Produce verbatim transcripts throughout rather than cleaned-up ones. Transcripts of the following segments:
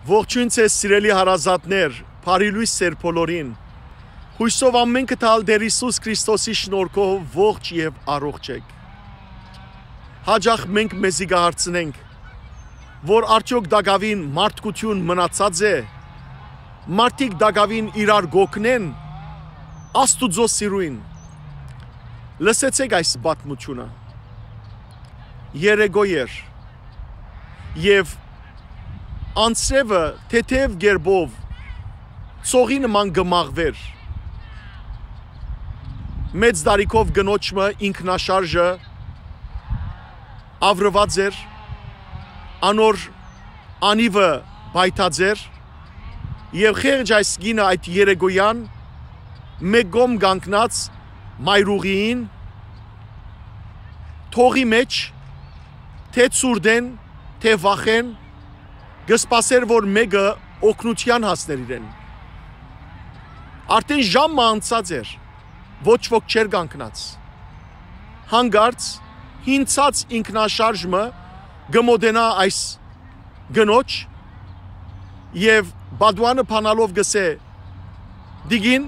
Ողջոյն ձեզ, սիրելի հարազատներ, բարի լոյս ձեր բոլորին։ Յոյսով ամէնքը տալ Տէր Յիսուս Քրիստոսի շնորհքով ողջ եւ առողջ էք։ Հաճախ մենք մեզի կը հարցնենք, որ արդեօք տակաւին մարդկություն մնացած է, մարդիկ տակաւին իրար կօգնեն Աստուծոյ սիրոյն։ Լսեցէք այս պատմութիւնը։ Երեկոյ էր, եւ անձրեւը թեթեւ կերպով ծովի նման կը մաղուէր։ Մեծ տարիքով կնոջ մը ինքնաշարժը աւրուած էր, անոր անիվը պայթած էր, եւ խեղճ այս կինը այդ երեկոյեան մէկ կողմ կանգնած մայրուղիին, թողի մէջ, թէ ցուրտէն, թէ վախէն, կը սպասէր, որ մէկը օգնութեան հասներ իրեն։ Արդէն ժամ մը անցած էր, ոչ ոք չէր կանգնած։ Հանկարծ հինցած ինքնաշարժ մը կը մոտենայ այս կնոջ եւ պատուանը բանալով կ'ըսէ. «Տիկին,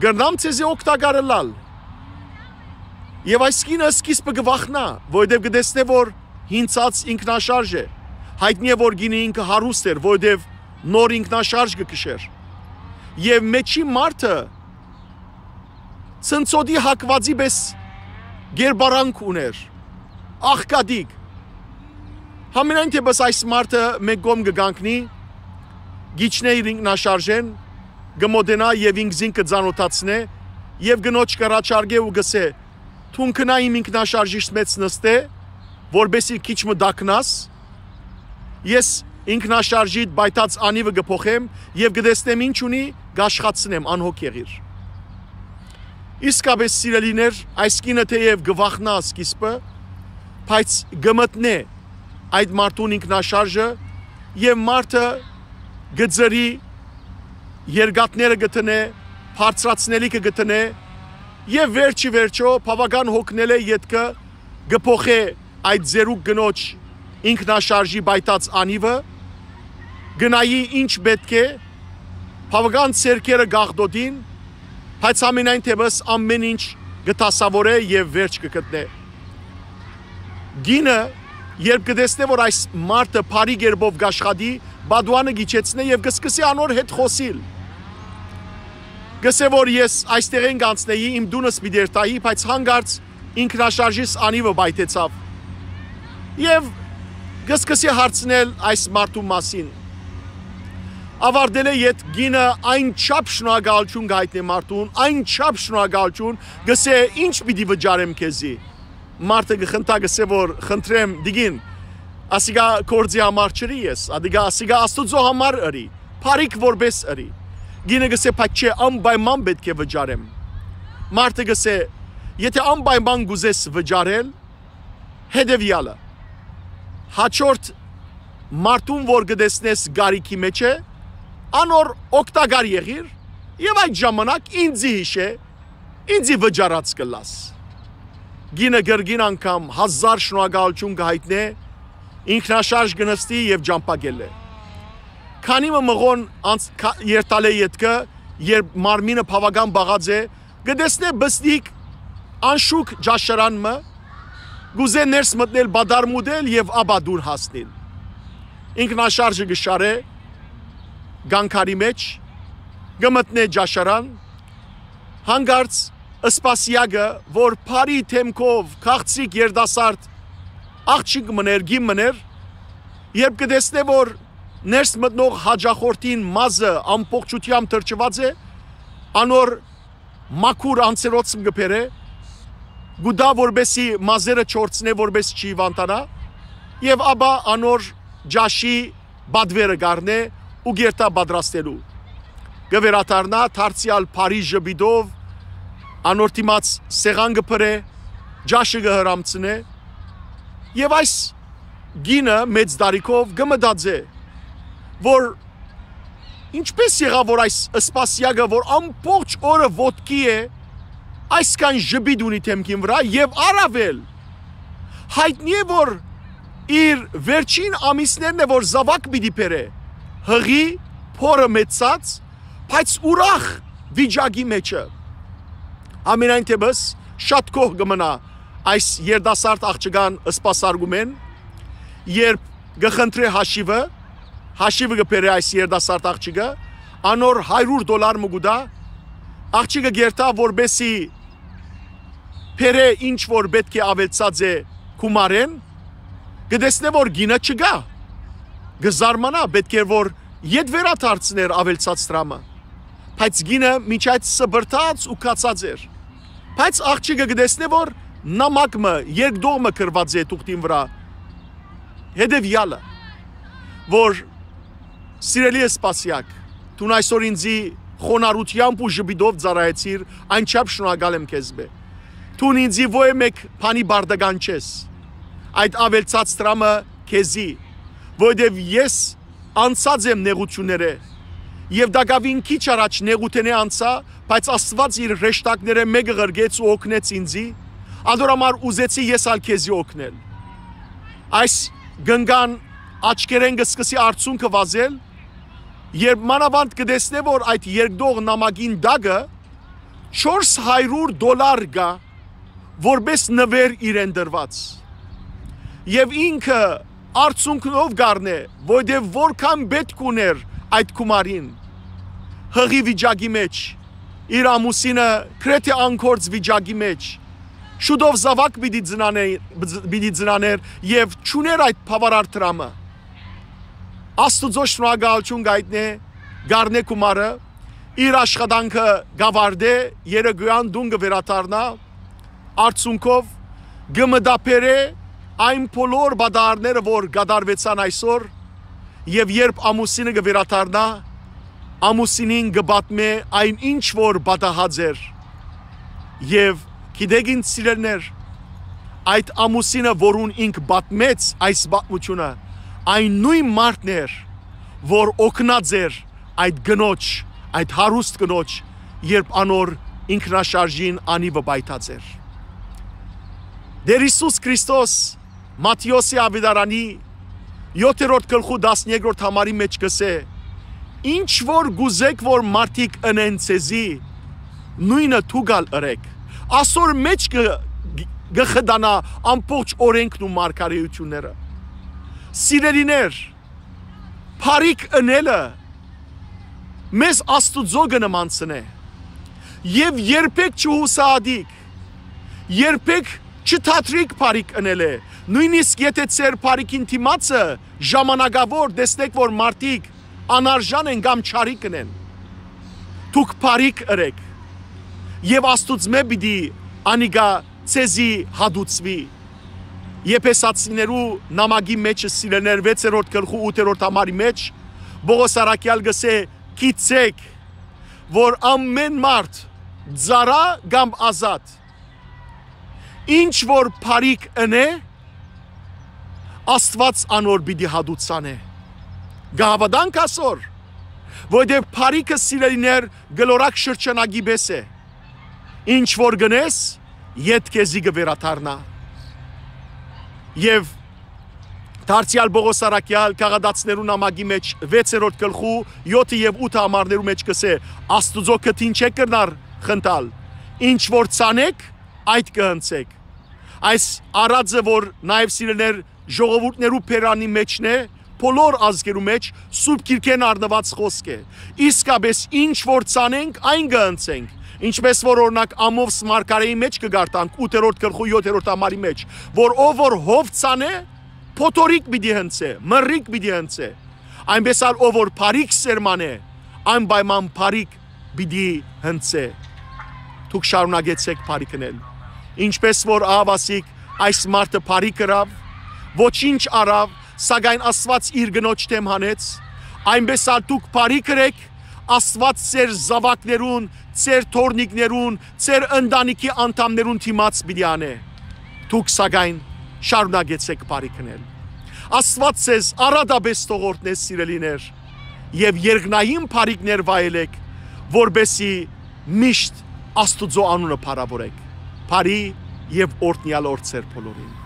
կրնամ ձեզի օգտակար ըլլալ»։ Եւ այս կինը սկիզբը կը վախնայ, որովհետեւ կը տեսնէ, որ հինցած ինքնաշարժ է։ Յայտնի է, որ կինը ինքը հարուստ էր, որովհետեւ նոր ինքնաշարժ կը քշէր։ Եւ մէջի մարդը ցնցոտի հակուածի պէս կերպարանք ունէր, աղքատիկ։ Համենայն դեպս այս մարդը մէկ կողմ կը կանգնի, կ'իջնէ իր ինքնաշարժէն, կը մոտենայ եւ ինքզինք կը ծանօթացնէ եւ կնոջ կ'առաջարկէ ու կ'ըսէ. «Դուն գնա իմ ինքնաշարժիս մէջ նստէ, որպէսզի քիչ մը տաքնաս, ես ինքնաշարժիդ պայթած անիվը կը փոխեմ եւ կը տեսնեմ ինչ ունի, կ'աշխացնեմ, անհոգ եղիր»։ Իսկապէս, սիրելիներ, այս կինը թէեւ կը վախնայ սկիզբը, բայց կը մտնէ այդ մարդուն ինքնաշարժը եւ մարդը կը ծռի, երկաթները կը դնէ, բարձրացնելիքը կը դնէ եւ վերջի վերջոյ բաւական հոգնելէ ետքը կը փոխէ այդ ծերուկ կնոջ ինքնաշարժի պայթած անիվը, կը նայի ինչ պէտք է, բաւական ձեռքերը կ'աղտոտին, բայց ամենայն դեպս ամէն ինչ կը դասաւորէ եւ վերջ կը գտնէ։ Կինը, երբ կը տեսնէ, որ այս մարդը բարի կերպով կ'աշխատի, պատուանը կ'իջեցնէ եւ կը սկսի անոր հետ խօսիլ։ Կ'ըսէ, որ ես այստեղէն կ'անցնէի, իմ տունս պիտի երթայի, բայց հանկարծ ինքնաշարժիս անիվը պայթեցաւ։ Եւ կը սկսի հարցնել այս մարդու մասին։ Աւարտելէ յետ կինը այն չափ շնորհակալութիւն կը յայտնէ մարդուն, այն չափ շնորհակալութիւն, կ'ըսէ. «Ինչ պիտի վճարեմ քեզի»։ Մարդը կը խնդայ, կ'ըսէ, որ խնդրեմ, տիկին, ասիկա գործի համար չըրի ես, ադիկա, ասիկա Աստուծոյ համար ըրի, բարիք որպէս ըրի։ Կինը կ'ըսէ. «Բայց չէ, անպայման պէտք է վճարեմ»։ Մարդը կ'ըսէ. «Եթէ անպայման կ'ուզես վճարել, հետեւեալը. հաջորդ մարդուն, որ կը տեսնես կարիքի մէջ է, անոր օգտակար եղիր եւ այդ ժամանակ ինձի յիշէ, ինձի վճարած կ'ըլլաս»։ Կինը կրկին անգամ հազար շնորհակալութիւն կը յայտնէ, ինքնաշարժ կը նստի եւ ճամբայ կ'ելլէ։ Քանի մը մղոն անց-, քա-, երթալէ ետքը, երբ մարմինը բաւական պաղած է, կը տեսնէ բզդիկ անշուք ճաշարան մը, կ'ուզէ ներս մտնել, պատառ մտնել եւ ապա տուն հասնիլ։ Ինքնաշարժը կը շարէ կանգարի մէջ, կը մտնէ ճաշարան, հանկարծ սպասեակը, որ բարի դէմքով քաղցրիկ երիտասարդ աղջիկ մըն էր, կին մըն էր, երբ կը տեսնէ, որ ներս մտնող հաճախորդին մազը ամբողջութեամբ թրջուած է, անոր մաքուր անցերոցը կը բերէ, կու տայ, որպէսզի մազերը չորցնէ, որպէս չի հիւանդանայ, եւ ապա անոր ճաշի պատուերը կ'առնէ ու կ'երթայ պատրաստելու։ Կը վերադառնայ դարձեալ բարի ժպիտով, անոր դիմաց սեղան կը բրէ, ճաշը կը հրամցնէ, եւ այս կինը մեծ տարիքով կը մտածէ, որ ինչպէս եղաւ, որ այս սպասեակը, որ ամբողջ օրը ոտքի է, այսքան ժպիտ ունի դէմքին վրայ, եւ առաւել յայտնի է, որ իր վերջին ամիսներն է, որ զաւակ պիտի բերէ, յղի փորը մեծցած, բայց ուրախ վիճակի մէջը։ Ամենայն դէպս, շատ գոհ կը մնայ այս երիտասարդ աղջկան սպասարկումէն, երբ կը խնդրէ հաշիվը, հաշիվը կը բերէ այս երիտասարդ աղջիկը, անոր հարիւր դոլար մը կու տայ, աղջիկը կ'երթայ, որպէսզի բերէ ինչ որ պէտք է աւելցած է գումարէն, կը տեսնէ որ կինը չկայ, կը զարմանայ, պէտք էր որ ետ վերադարձներ աւելցած դրամը, բայց կինը մինչ այդ սպրդած ու քացած էր, բայց աղջիկը կը տեսնէ որ նամակ մը, երկդող մը գրուած է թուղթին վրայ, հետեւեալը, որ սիրելի սպասեակ, դուն այսօր ինձի խոնարհութեամբ ու ժպիտով ծառայեցիր, այնչափ շնորհակալ եմ քեզմէ։ Դուն ինձի ոյ մէկ բանի պարտական չես, այդ աւելցած դրամը քեզի, որովհետեւ ես անցած եմ նեղութիւններէ, եւ տակաւին քիչ առաջ նեղութենէ անցայ, բայց Աստուած իր հրեշտակներէն մէկը ղրկեց ու օգնեց ինձի, անոր համար ուզեցի ես ալ քեզի օգնել։ Այս կնկան աչքերէն կը սկսի արցունքը վազել, երբ մանաւանդ կը տեսնէ որ այդ երկդող նամակին տակը չորս հարիւր դոլար կայ, որպէս նուէր իրեն տրուած, եւ ինքը արցունքնով կ'առնէ, որովհետեւ որքան պէտք ունէր այդ գումարին, յղի վիճակի մէջ, իր ամուսինը գրեթէ անգործ վիճակի մէջ, շուտով զաւակ պիտի ծնանէ, պիտի ծնանէր եւ չունէր այդ բաւարար դրամը։ Աստուծոյ շնորհակալութիւն կ'այտնէ, կ'առնէ գումարը, իր աշխատանքը կ'աւարտէ, երեկոյեան տուն կը վերադառնայ, արցունքով կը մտաբերէ այն բոլոր պատահարները որ կատարուեցան այսօր, եւ երբ ամուսինը կը վերադառնայ, ամուսինին կը պատմէ այն ինչ որ պատահած էր, եւ գիտեք ինձ սիրելիներ, այդ ամուսինը որուն ինք պատմեց այս պատմութիւնը, այն նոյն մարդն էր որ օգնած էր այդ կնոջ, այդ հարուստ կնոջ, երբ անոր ինքնաշարժին անիվը պայթած էր։ Տէր Յիսուս Քրիստոս Մատթէոսի աւետարանի յոթերորդ գլխու տասներկրորդ համարի մէջ կ'ըսէ. «Ինչ որ կ'ուզէք որ մարդիկ ընեն ձեզի, նոյնը դուք ալ ըրէք»։ Ասոր մէջ կը, կը խտանայ ամբողջ օրէնքն ու մարգարէութիւնները։ Սիրելիներ, բարիք ընելը մեզ Աստուծոյ կը նմանցնէ։ Եւ երբեք չյուսահատիք, երբեք չդադրիք բարիք ընելը, նոյնիսկ եթէ ձեր բարիքին դիմացը ժամանակաւոր տեսնէք որ մարդիկ անարժան են կամ չարիք ընեն։ Դուք բարիք ըրէք, եւ Աստուծմէ պիտի անիկա ձեզի հատուցուի։ Եփեսացիներու նամակի մէջը, սիրելիներ, վեցերորդ գլխու ութերորդ համարի մէջ Պողոս առաքեալ կ'ըսէ. «Գիտցէք որ ամէն մարդ, ծառայ կամ ազատ, ինչ որ բարիք ընէ, Աստուած անոր պիտի հատուցանէ»։ Կ'հաւատանք ասոր, որովհետեւ բարիքը, սիրելիներ, կլորակ շրջանակի պէս է։ Ինչ որ կ'ընես, ետ քեզի կը վերադառնայ։ Եւ դարձեալ Պողոս առաքեալ Գաղատացիներու նամակի մէջ վեցերորդ գլխու յոթը եւ ութը համարներու մէջ կ'ըսէ. «Աստուծոյ քթին չէ կրնար խնդալ։ Ինչ որ ցանէք, այդ կը հնցէք»։ Այս արածը որ նաեւ, սիրելիներ, ժողովուրդներու բերանի մէջն է, բոլոր ազգերու մէջ, Սուրբ Գիրքէն առնուած խօսք է։ Իսկապէս ինչ որ ցանենք, այն կը ընցենք։ Ինչպէս որ օրինակ Ամովս մարգարէի մէջ կը կարդանք, ութերորդ գլխու յոթերորդ համարի մէջ, որ ով որ հով ցանէ, փոթորիկ պիտի հնցէ, մրրիկ պիտի հնցէ։ Այնպէս ալ ով որ բարիք սերմանէ, անպայման բարիք պիտի հնցէ։ Դուք շարունակեցէք բարիք ընել։ Ինչպէս որ ահաւասիկ այս մարդը բարիք ըրաւ, ոչինչ առաւ, սակայն Աստուած իր կնոջ դէմ հանեց, այնպէս ալ դուք բարիք ըրէք, Աստուած ձեր զաւակներուն, ձեր թոռնիկներուն, ձեր ընտանիքի անդամներուն դիմաց պիտի անէ։ Դուք սակայն շարունակեցէք բարիք ընել։ Աստուած ձեզ առատապէս թող օրհնէ, սիրելիներ, եւ երկնային բարիքներ վայելէք, որպէսզի միշտ Աստուծոյ անունը փառաւորէք։ Բարի եւ օրհնեալ օր ձեր բոլորին։